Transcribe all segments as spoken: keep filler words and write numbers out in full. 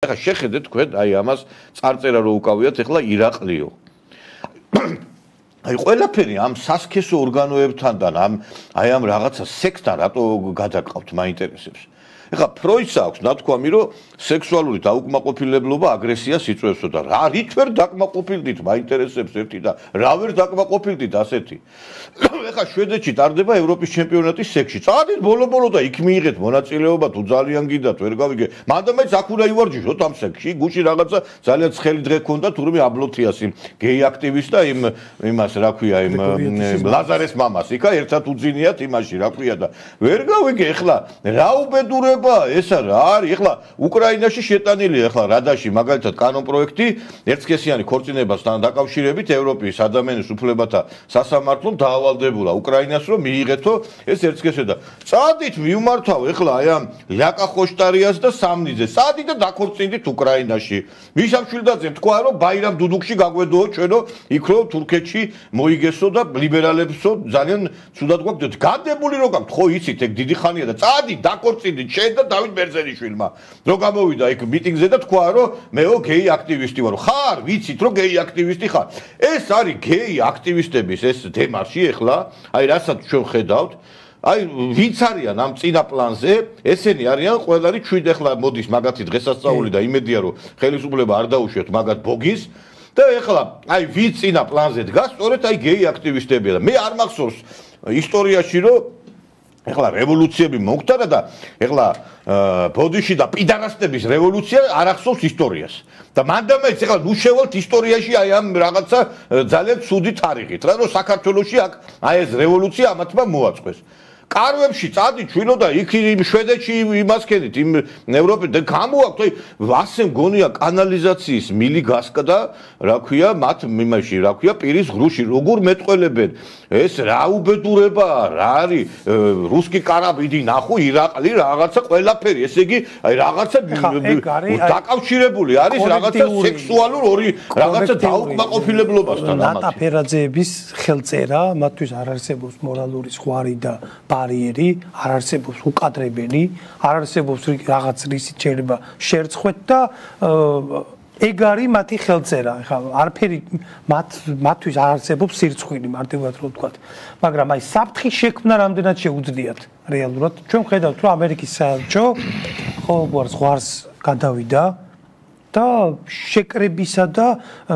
ეხლა შეხედეთ თქვენ აი ამას წარწერა რო უკავიათ ეხლა ირაყლიო. აი ყველაფერი ამ სასქესო ორგანოებთან და ამ აი ამ რაღაცა სექსთან რატო გადაყავთ მაინტერესებს. ეხლა ფროიდს აქვს ნათქვამი რომ სექსუალური დაუკმაყოფილებლობა აგრესიას იწვევსო და რა რით ვერ დაკმაყოფილდით მაინტერესებს ერთი და რა ვერ დაკმაყოფილდით ასეთი. ეხლა შვედეთში ტარდება ევროპის ჩემპიონატის სექსში. წადით ბოლო-ბოლო და იქ მიიღეთ მონაწილეობა თუ ძალიან გიდათ ვერ გავიგე. მანდა მეც აქ უნდა ივარჯიშოთ ამ სექსში. გუში რაღაცა ძალიან ცხელი დღე ქონდა თურმე აბლოთიას იმ გეი აქტივისტ და იმ იმას რა ქვია იმ ლაზარეს მამას იქა ერთად უძინიათ იმაში რა ქვია და ვერ გავიგე ეხლა რა უბედურება ეს რა არის ეხლა უკრაინაში შეტანილია ეხლა რადაში მაგალითად კანონ პროექტი ერთსქესიანი ქორწინებასთან დაკავშირებით ევროპის ადამიანის უფლებათა სასამართლომ დაავალდებულა უკრაინას რომ მიიღეთო ეს ერთსქესე და წადით მივმართავ ეხლა აი ამ ლიაკა ხოშტარიას და სამნიძეს წადით და დაქორწინდით უკრაინაში მიშა მშვილდაძემ თქვა რომ ბაირამ დუდუქში გაგვედოო ჩვენო იქ რომ თურქეთში მოიგესო და ლიბერალებსო ძალიან ცუდად გვაქვს გადებული რო გაქვთ ხო იცით ეგ დიდი ხანია და წადით დაქორწინდით შენ და დავით ბერძენიშვილმა რო გამოვიდა იქ მიტინგზე და თქვა რომ მეო გეი აქტივისტი ვარ ხარ ვიცით რომ გეი აქტივისტი ხარ ეს არის გეი აქტივისტების ეს დემარში ეხლა აი რასაც ჩვენ ხედავთ აი ვინც არიან ამ წინა პლანზე ესენი არიან ყველანი ჩვიდ ეხლა მოდის მაგათი დღესასწაული და იმედია რომ ხელისუფლება არ დაუშვათ მაგათ ბოგის და ეხლა აი ვინც წინა პლანზე დგას სწორედ აი გეი აქტივისტებია და მე არ მახსოვს ისტორიაში რომ ეხლა რევოლუციები მოხდა და ეხლა ბოდიში და პიდარასტების რევოლუცია არ ახსოვს ისტორიას და მანდამეც ეხლა ნუ შევალთ ისტორიაში აი ამ რაღაცა ძალიან ცუდი თარიღით რა რომ საქართველოში აქ აი ეს რევოლუცია ამათმა მოაწყვეს კარვებში წადით ჩვენო და იქ იმ შვედეთში იმას ქენით იმ ევროპით და გამოაქვთ აი ასე მგონია კანალიზაციის მილი გასკდა რა ქვია მათ მიმაში რა ქვია პირის ღრუში როგორ მეტყველებენ ეს რა უბედურებაა რა არის რუსკი კარაბიდი ნახო ირაყლი რაღაცა ყველაფერი ესე იგი აი რაღაცა დაკავშირებული არის რაღაცა სექსუალურ ორი რაღაცა დაუკმაყოფილებლობასთან ამათი ნატა ფერაძეების ხელწერა მათთვის არ არსებობს მორალური ზღვარი და ბარიერი არ არსებობს უკადრებელი არ არსებობს რაღაც რისით შეიძლება შერცხვეთ და ეგ არის მათი ხელწერა ხა არაფერი მათ მათთვის არ არსებობს სირცხვილი მარტივად რო ვთქვათ მაგრამ აი საფრთხის შექმნა რამდენად შეუძლიათ რეალურად ჩვენ ხედავთ რომ ამერიკის საელჩო ყოველგვარ ზღვარს გადავიდა და შეკრებისა და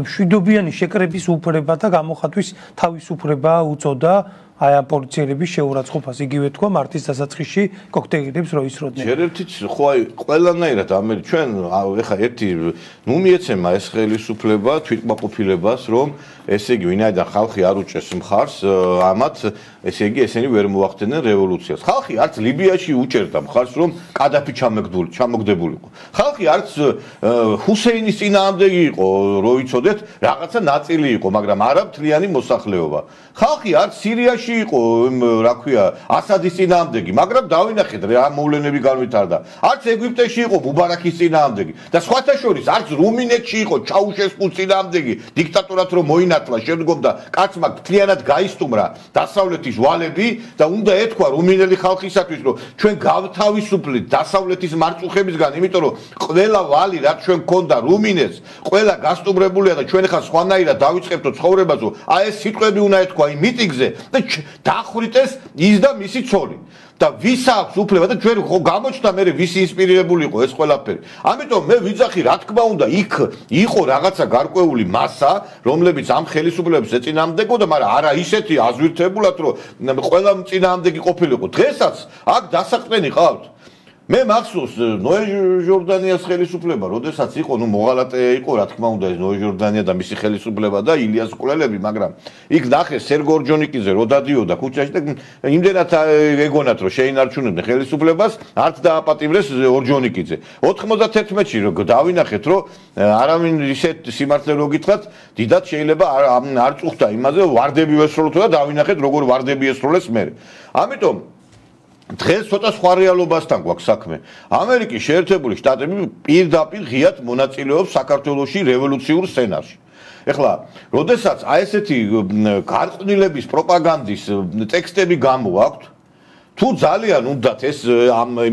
მშვიდობიანი შეკრების უფლება და გამოხატვის თავისუფლება უწოდა აი ამ პოლიციელების შეურაცხყოფას იგივე თქვა მარტის დასაწყისში კოქტეილებს რო ისროდნენ. შერერთიც ხო აი ყველანაირად ამერი ჩვენ ეხა ერთი ნუ მიეცემა ეს ხელისუფლება თვითკმაყოფილებას რომ ესე იგი ვინაიდან ხალხი არ უჭერს მხარს ამათ ესე იგი ესენი ვერ მოახდენენ რევოლუციას. ხალხი არც ლიბიაში უჭერდა მხარს რომ კადაფი ჩამოგდებული ჩამოგდებულიყო. ხალხი არც ჰუსეინის წინააღმდეგი იყო რო იცოდეთ რაღაცა ნაწილი იყო მაგრამ არა მთლიანი მოსახლეობა. ხალხი არც სირიაში იყო რა ქვია ასადის წინააღმდეგი მაგრამ დავინახეთ რა მოვლენები განვითარდა არც ეგვიპტეში იყო მუბარაკის წინააღმდეგი და სხვათა შორის არც რუმინეთში იყო ჩაუშესკუს წინააღმდეგი დიქტატორად რომ მოინათლა შემდგომ და კაცმა მთლიანად გაისტუმრა დასავლეთის ვალები და უნდა ეთქვა რუმინელი ხალხისათვის რომ ჩვენ გავთავისუფლეთ დასავლეთის მარწუხებისგან იმიტომ რომ ყველა ვალი რაც ჩვენ გქონდა რუმინეთს ყველა გასტუმრებულია და ჩვენ ხა სხვანაირად დავიწყებთო ცხოვრებაზე აი ეს სიტყვები უნდა ეთქვა იმ მიტინგზე და დახვრიტეს ის და მისი ცოლი და ვის აქვს უფლება და ჩვენ ხო გამოჩნდა მე ვისი ინსპირირებული იყო ეს ყველაფერი ამიტომ მე ვიძახი რა თქმა უნდა იქ იყო რაღაცა გარკვეული მასა რომლებიც ამ ხელისუფლებას ეწინააღმდეგებოდა მაგრამ არა ისეთი აზვირთებულად რომ ყველა წინააღმდეგი ყოფილიყო დღესაც აქ დასაყრდენი ყავთ მე მახსოვს ნოე ჟორდანიას ხელისუფლება, როდესაც იყო, ნუ მოღალატე იყო, რა თქმა უნდა, ეს ნოე ჟორდანია და მისი ხელისუფლება და ილიას კულელები, მაგრამ იქ ნახეს სერგო ორჯონიკიძე რო დადიოდა ქუჩაში და იმდენად ეგონათ რომ შეინარჩუნებდნენ ხელისუფლებას, არც დააპატიმრეს ორჯონიკიძე. ოთხმოცდათერთმეტში რო დავინახეთ, რომ არავინ ისეთ სიმართლე რო გითხრათ, დიდად შეიძლება არ წუხდა იმაზე, ვარდები ვესროლოთ და დავინახეთ როგორ ვარდები ესროლეს მე. ამიტომ დღეს ცოტა სხვა რეალობასთან გვაქვს საქმე. ამერიკის შეერთებული შტატები პირდაპირ ღიად მონაწილეობს საქართველოში რევოლუციურ სცენარში. ეხლა, როდესაც აი ესეთი გარყვნილების პროპაგანდის ტექსტები გამოაქვთ, თუ ძალიან უნდათ ეს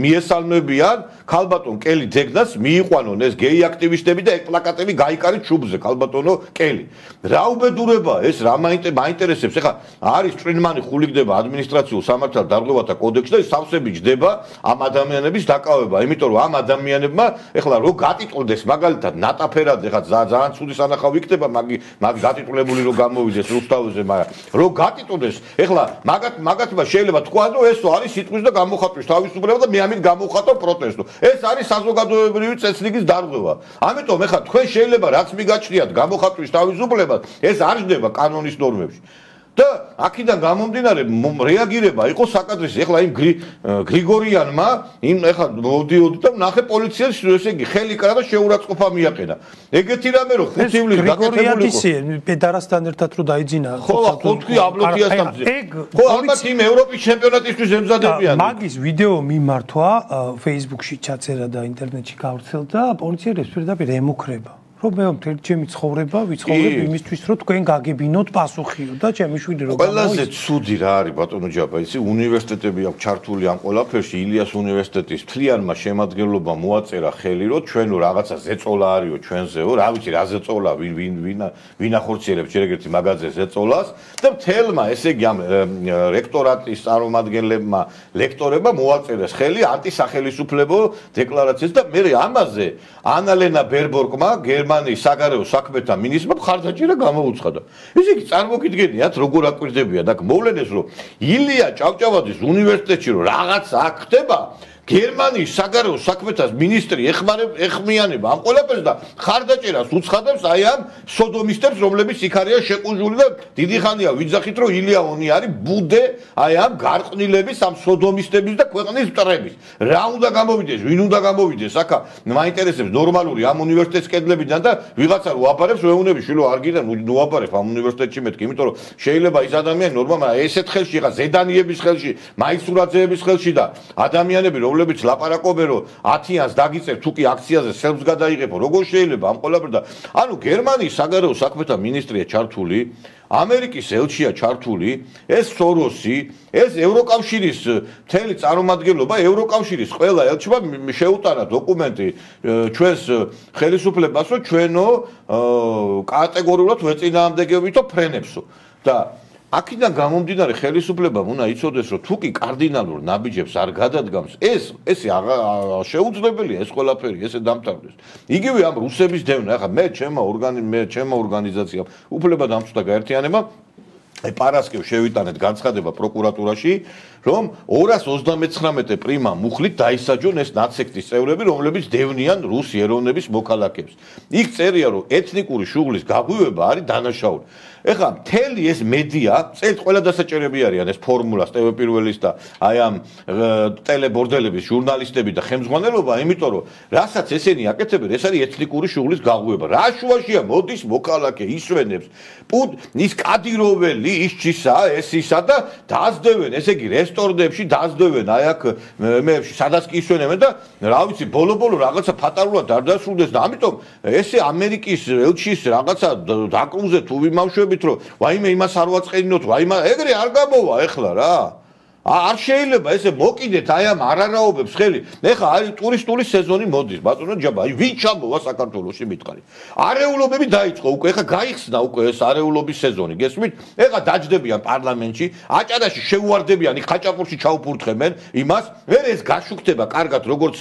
მიესალმებიან ქალბატონ კელი ძეგნას მიიყვანონ ეს გეი აქტივისტები და პლაკატები გაიკარით შუბზე ქალბატონო კელი. რა უბედურება ეს რა მაინტერესებს ეხლა არის წვრილმანი ხულიგდება ადმინისტრაციულ სამართალ დარღვევათა კოდექსში და სავსები ჯდება ამ ადამიანების დაკავება, იმიტომ რომ ამ ადამიანებმა ეხლა რო გატიტულდეს მაგალითად ნატაფერად ეხლა ძალიან ცუდი სანახავი იქნება მაგი მაგ გატიტულებული რო გამოვიდეს რუსთავზე, მაგრამ რო გატიტულდეს ეხლა მაგათ მაგათმა შეიძლება თქვა რომ ეს არის სიტყვის და გამოხატვის თავისუფლება და მე ამით გამოვხატო პროტესტო. ეს არის საზოგადოებრივი წესრიგის დარღვევა. ამიტომ ეხლა თქვენ შეიძლება რაც მიგაჩნიათ გამოხატვის თავისუფლება, ეს არ ჯდება კანონის ნორმებში. და აქედან გამომდინარე რეაგირება იყო საკადრისი. ეხლა იმ გრიგორიანმა იმ ეხლა მოვდიოდი და ნახე პოლიციას ესე იგი ხელი კრა და შეურაცხყოფა მიაყენა. ეგეთი რამე რო ხუთი ივლისს გაკეთებული იყო. პედარასთან ერთად რო დაიძინა. ხო, ხუთი აბლოთიასთან. ხო, ალბათ იმ ევროპის ჩემპიონატისთვის ემზადებიან. მაგის ვიდეო მიმართვა Facebook-ში ჩაწერა და ინტერნეტში გავრცელდა, პოლიციელებს პირდაპირ ემუქრება. რომ მე მთელი ჩემი ცხოვრება ვიცხოვრებ იმისთვის, რომ თქვენ გაგებინოთ პასუხიო და ჩემი შვილი რომ ყველაზე ცუდი რა არის ბატონო ჯაბა, იცი უნივერსიტეტები აქვს ჩართული ამ ყველაფერში, ილიას უნივერსიტეტის მთლიანმა შემადგენლობამ მოაწერა ხელი, რომ ჩვენო რაღაცა ზეწოლა არისო ჩვენზეო, რა ვიცი რა ზეწოლა, ვინ ვინ ვინ ვინ ახორციელებს ჯერ ერთი მაგაზე ზეწოლას და მთელმა ესე იგი ამ რექტორატის წარმომადგენლებმა, ლექტორებმა მოაწერეს ხელი ანტისახელისუფლებო დეკლარაციას და მე ამაზე ანალენა ბერბორკმა გერმანიის საგარეო საქმეთა მინისტრმა მხარდაჭერა გამოუცხადა. ესე იგი წარმოგიდგენიათ როგორ აკვირდებიან აქ მოვლენებს რომ ილია ჭავჭავაძის უნივერსიტეტში რომ რაღაც აქ ხდება გერმანიის საგარეო საქმეთა მინისტრი ეხმიანება ამ ყველაფერს და ხარდაჭერას უცხადებს აი ამ სოდომისტებს რომლებიც იქ არიან შეყუჟული და დიდი ხანია ვიძახით რომ ილია-ონი არის ბუდე აი ამ გარყვნილების ამ სოდომისტების და ქვეყნის მტრების რა უნდა გამოვიდეს ვინ უნდა გამოვიდეს აქა მაინტერესებს ნორმალური ამ უნივერსიტეტის კედლებიდან და ვიღაცა რო აფარებს ვეუნები შვილო არ გიდან ნუ აფარებ ამ უნივერსიტეტში მეთქი იმიტომ რომ შეიძლება ის ადამიანი ნორმალურად ესეთ ხელში ხა ზედანიების ხელში მაისურაძეების ხელში და ადამიანები რომ რომლებიც ლაპარაკობენ რომ ათიანს დაგიწევ თუ კი აქციაზე სელფს გადაიღებო როგორ შეიძლება ამ ყველაფერ და ანუ გერმანიის საგარეო საქმეთა მინისტრია ჩართული ამერიკის ელჩია ჩართული ეს სოროსი ეს ევროკავშირის მთელი წარმომადგენლობა ევროკავშირის ყველა ელჩმა შეუტანა დოკუმენტი ჩვენს ხელისუფლებას რომ ჩვენო კატეგორიულად ვეწინააღმდეგებითო ფრენებსო და აქედან გამომდინარე ხელისუფლებამ უნდა იცოდეს რომ თუ კი კარდინალურ ნაბიჯებს არ გადადგამს ეს ესე შეუძლებელია ეს ყველაფერი ესე დამთავრდეს იგივე ამ რუსების დევნა ახლა მე ჩემო ორგანი მე ჩემო ორგანიზაციამ უფლება დამცდა გაერთიანება აი პარასკევს შევიტანეთ განცხადება პროკურატურაში რომ ორას ოცდამეცხრამეტე პრიმა მუხლით დაისაჯონ ეს ნაცსექტის წევრები რომლებიც დევნიან რუს ეროვნების მოქალაქეებს იქ წერია რომ ეთნიკური შუღლის გაღვივება არის დანაშაული ეხლა მთელი ეს მედია წელს ყველა დასაჭერები არიან ეს ფორმულას ტევ პირველის და აი ამ ტელებორდელების ჟურნალისტები და ხელმძღვანელობა იმიტომ რომ რასაც ესენი აკეთებენ ეს არის ეთნიკური შუღლის გაღვივება რა შუაშია მოდის მოქალაქე ისვენებს ის კადიროველი ის ჩისა ეს ისა და დაძდევენ ესე იგი რესტორნებში დაძდევენ აი აქ მე სადაც კი ისვენებენ და რა ვიცი ბოლო-ბოლო რაღაცა ფატარულად არ დასრულდეს და ამიტომ ესე ამერიკის ელჩის რაღაცა დაკრუზე თუ ვიმავშვებით რომ ვაიმე იმას არ ვაწყენინოთ ვაიმე ეგრე არ გამოვა ეხლა რა არ შეიძლება ესე მოკიდეთ აი ამ არარაობებს ხელი ეხლა არის ტურისტული სეზონი მოდის ბატონო ჯაბა აი ვინ ჩამოვა საქართველოში მითხარი არეულობები დაიწყო უკვე ეხლა გაიხსნა უკვე ეს არეულობის სეზონი გესმით ეხლა დაჯდებიან პარლამენტში აჭარაში შეუვარდებიან იქ ხაჭაპურში ჩაუფურთხებენ იმას ვერ ეს გაშუქდება კარგად როგორც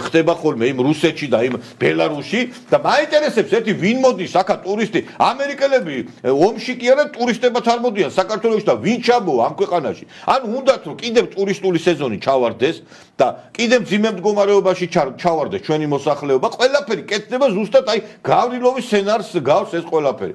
ხდება ხოლმე იმ რუსეთში და იმ ბელარუსში და მაინტერესებს ერთი ვინ მოდის აქა ტურისტი ამერიკელები ომში კი არა ტურისტებად არ მოდიან საქართველოში და ვინ ჩამოვა ამ ქვეყანაში ანუ უნდათ კიდევ ტურისტული სეზონი ჩავარდეს და კიდევ მძიმე მდგომარეობაში ჩავარდეს ჩვენი მოსახლეობა ყველაფერი კეთდება ზუსტად აი გავრილოვის სცენარს გავს ეს ყველაფერი